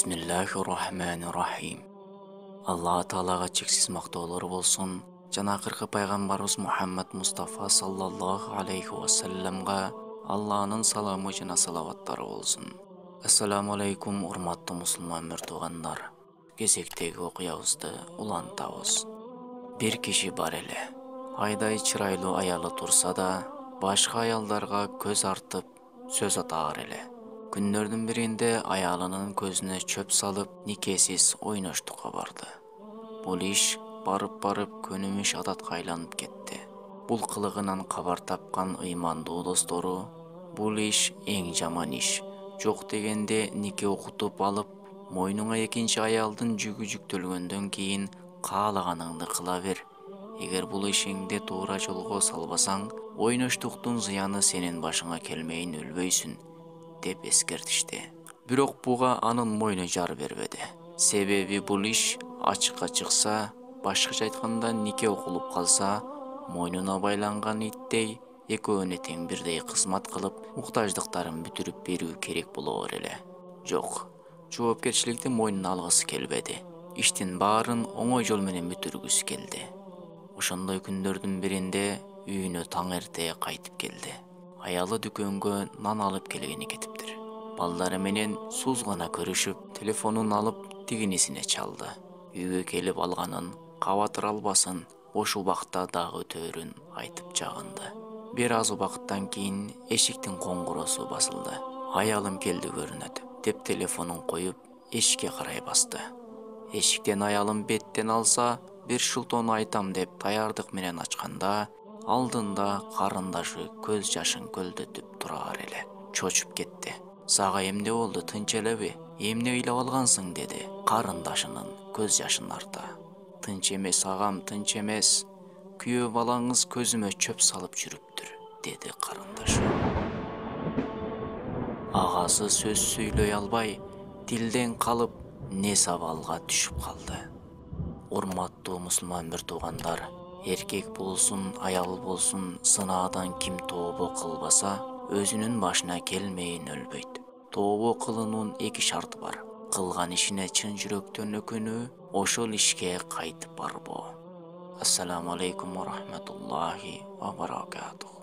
Бисмиллахир-рахманир-рахим. Алла Таалага чексиз мактоолор болсун. Жана акыркы пайгамбарыбыз Мухаммад Мустафа саллаллаху алейхи ва салламга Алланын саламы жана салаваттары болсун. Ассаламу алейкум, урматтуу мусулман мөртугандар. Кезектеги окуябызды улантабыз. Бир киши бар эле. Айдай чырайлуу аялы турса да, башка аялдарга көз артып, сөз атаар эле. Күндөрдүн биринде аялынын көзүнө чөп салып, никесиз ойноштукка барды. Бул иш барып көнүмүш адатка айланып кетти. Бул кылыгынан кабар тапкан ыймандуу достору: бул иш эң жаман иш. Жок дегенде нике окутуп алып, мойнуңа экинчи аялдын жүгү жүктөлгөндөн кийин каалаганыңды кыла бер. Эгер бул ишиңди туура жолго салбасаң, ойноштуктун зыяны сенин башыңа келмейин өлбөйсүн, деп эскертишти. Бирок буга анын мойну жар бербеди. Себеби бул иш ачыкка чыкса, башкача айтканда нике окулуп калса, мойнуна байланган иттей экөөнө тең бирдей кызмат кылып, муктаждыктарын бүтүрүп берүү керек болоор эле. Жок, жоопкерчиликти мойнуна алгысы келбеди. Иштин баарын оңой жол менен бүтүргүсү келди. Ошондой күндөрдүн биринде үйүнө таң эрте кайтып келди. Аялы дүкөнгө нан алып келгени кетиптир. Балдары менен сууз гана көрүшүп, телефонун алып тигинисине чалды. Үйгө келип алганын, кабатыр албасын, бош убакта дагы өтөөрүн айтып жагынды. Бир аз убакыттан кийин эшиктин коңгуросу басылды. Аялым келди көрүнөт, деп телефонун коюп, эшикке карай басты. Эшиктен аялым беттен алса, бир шултоону айтам деп даярдык менен ачканда, алдында карындашы көз жашын көлдөтүп турар эле. Чочуп кетти. Сага эмне болду, тынч элеби? Эмне ыйлап алгансың, деди карындашынын көз жашын арта. Тынч эмес агам, тынч эмес. Күйөө балаңыз көзүмө чөп салып жүрүптүр, деди карындашы. Агасы сөз сүйлөй албай, тилден калып, нес абалга түшүп калды. Урматтуу мусулман мөртугандар, эркек болсун, аял болсун, сынаадан ким тообо кылбаса, өзүнүн башына келмейин өлбөйт. Тообо кылуунун эки шарты бар: кылган ишине чын жүрөктөн өкүнүү, ошол ишке кайтып барбоо. Ассаламу алейкум ва рахматуллахи ва баракатух.